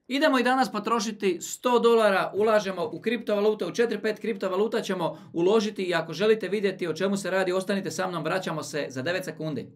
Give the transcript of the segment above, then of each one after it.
Idemo i danas potrošiti $100, ulažemo u kriptovalute, u 4-5 kriptovaluta ćemo uložiti i ako želite vidjeti o čemu se radi, ostanite sa mnom, vraćamo se za 9 sekundi.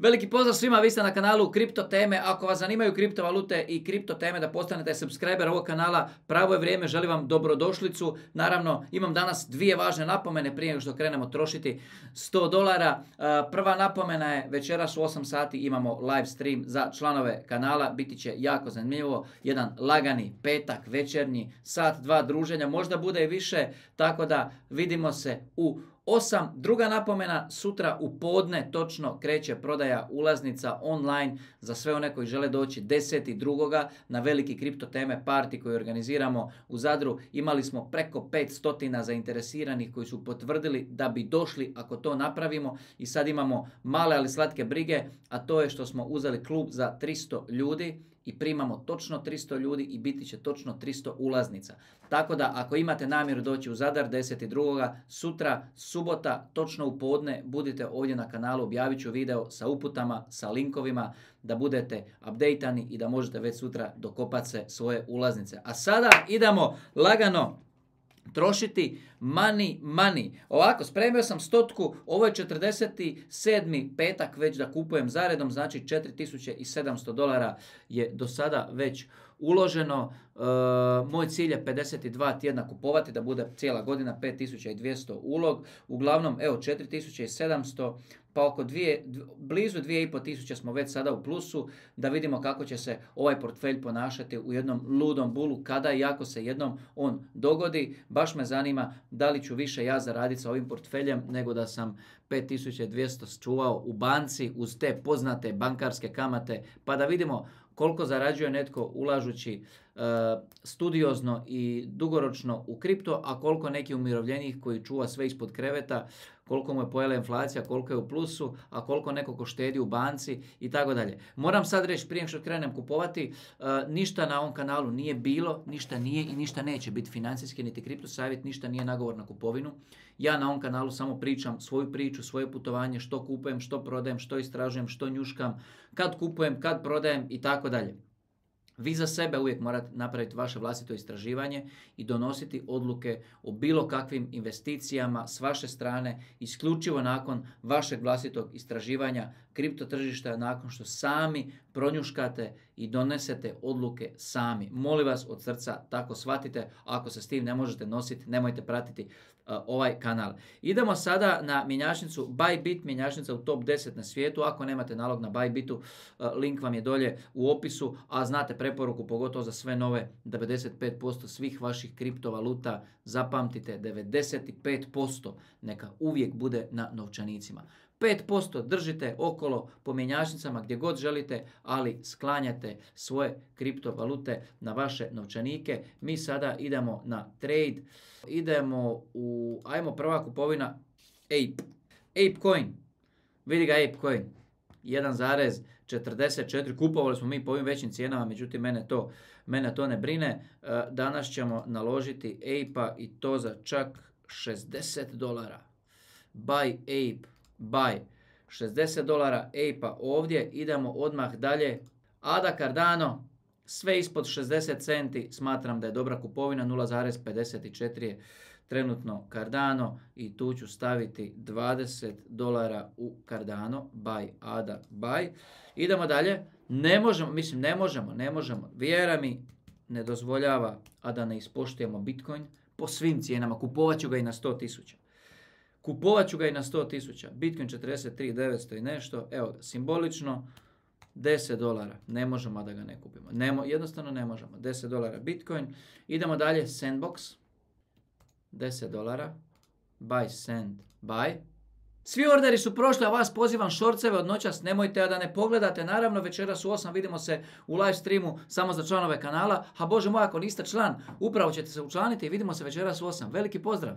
Veliki pozdrav svima, vi ste na kanalu Kripto teme. Ako vas zanimaju kriptovalute i kripto teme da postanete subscriber ovog kanala, pravo je vrijeme, želim vam dobrodošlicu. Naravno, imam danas dvije važne napomene prije nego što krenemo trošiti $100. Prva napomena je, večeras u 8 sati imamo live stream za članove kanala, biti će jako zanimljivo, jedan lagani petak večernji, sat, dva druženja, možda bude i više, tako da vidimo se u 8. Druga napomena, sutra u podne točno kreće prodaja ulaznica online za sve one koji žele doći 10.2. na veliki kripto teme party koji organiziramo u Zadru. Imali smo preko 500 zainteresiranih koji su potvrdili da bi došli ako to napravimo i sad imamo male ali slatke brige, a to je što smo uzeli klub za 300 ljudi i primamo točno 300 ljudi i biti će točno 300 ulaznica. Tako da ako imate namjeru doći u Zadar 10.2. sutra, subota, točno u podne, budite ovdje na kanalu, objavit ću video sa uputama, sa linkovima, da budete updateani i da možete već sutra dokopati se svoje ulaznice. A sada idemo lagano trošiti money. Ovako, spremio sam 100, ovo je 47. petak već da kupujem zaredom, znači $4.700 je do sada već uloženo. Moj cilj je 52 tjedna kupovati, da bude cijela godina 5.200 ulog. Uglavnom, evo 4.700, pa oko blizu 2.500 smo već sada u plusu, da vidimo kako će se ovaj portfelj ponašati u jednom ludom bulu, kada i ako se jednom on dogodi. Baš me zanima da li ću više ja zaraditi sa ovim portfeljem nego da sam 5.200 čuvao u banci uz te poznate bankarske kamate, pa da vidimo koliko zarađuje netko ulažući studiozno i dugoročno u kripto, a koliko neki umirovljenik koji čuva sve ispod kreveta, koliko mu je pojela inflacija, koliko je u plusu, a koliko neko ko štedi u banci i tako dalje. Moram sad reći prije što krenem kupovati, ništa na ovom kanalu nije bilo, ništa nije i ništa neće biti financijski, niti kripto savjet, ništa nije nagovor na kupovinu. Ja na ovom kanalu samo pričam svoju priču, svoje putovanje, što kupujem, što prodajem, što istražujem, što njuškam, kad kupujem, kad prodajem i tako dalje. Vi za sebe uvijek morate napraviti vaše vlastito istraživanje i donositi odluke o bilo kakvim investicijama s vaše strane, isključivo nakon vašeg vlastitog istraživanja kripto tržišta, nakon što sami pronjuškate i donesete odluke sami. Molim vas od srca, tako shvatite. Ako se s tim ne možete nositi, nemojte pratiti ovaj kanal. Idemo sada na mjenjačnicu Bybit, mjenjačnica u top 10 na svijetu. Ako nemate nalog na Bybitu, link vam je dolje u opisu, a znate preporuku pogotovo za sve nove, 95% svih vaših kriptovaluta, zapamtite, 95% neka uvijek bude na novčanicima. 5% držite okolo po mjenjačnicama gdje god želite, ali sklanjate svoje kriptovalute na vaše novčanike. Mi sada idemo na trade. Ajmo prva kupovina Ape Coin. Vidi ga Ape Coin. 1,44. Kupovali smo mi po ovim većim cijenama, međutim mene to ne brine. Danas ćemo naložiti Ape-a i to za čak $60. Buy Ape. Buy. $60 Ape-a ovdje. Idemo odmah dalje. ADA Cardano. Sve ispod 60 centi smatram da je dobra kupovina. 0,54 je trenutno Cardano i tu ću staviti $20 u Cardano. Buy, ADA, buy. Idemo dalje. Ne možemo. Vjera mi ne dozvoljava, a da ne ispoštujemo Bitcoin po svim cijenama. Kupovat ću ga i na 100.000. Bitcoin 43.900 i nešto. Evo ga, simbolično $10. Ne možemo da ga ne kupimo. Jednostavno ne možemo. $10 Bitcoin. Idemo dalje. Sandbox. $10. Buy Sand. Buy. Svi orderi su prošli, a vas pozivam šorceve od noćas, nemojte da ne pogledate. Naravno, večeras u 8 vidimo se u live streamu samo za članove kanala. A Bože moj, ako niste član, upravo ćete se učlaniti i vidimo se večeras u 8. Veliki pozdrav!